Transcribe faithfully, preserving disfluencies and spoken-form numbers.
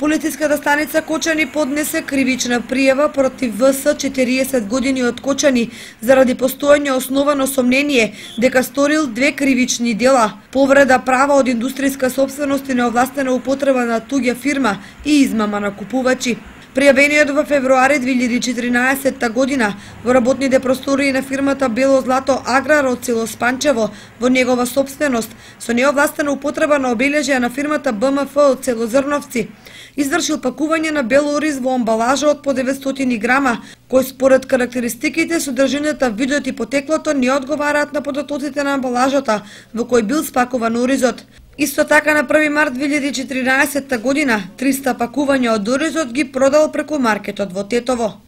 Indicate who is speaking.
Speaker 1: Полициската станица Кочани поднесе кривична пријава против В С четириесет години од Кочани заради постоење основано сомнение дека сторил две кривични дела: повреда права од индустријска сопственост и неовластена употреба на туѓа фирма и измама на купувачи. Пријавениот во февруари две илјади и четиринаесетта година во работните простории на фирмата Бело Злато Аграр од село Спанчево во негова сопственост со неовластена употреба на обележја на фирмата Б М Ф од село Зрновци извршил пакување на бел ориз во амбалажа од по деветстотини грама, кој според карактеристиките, содржината, видот и потеклото не одговараат на податоците на амбалажата во кој бил спакуван оризот. Исто така на први март две илјади и четиринаесетта година триста пакувања од оризот ги продал преку маркетот во Тетово.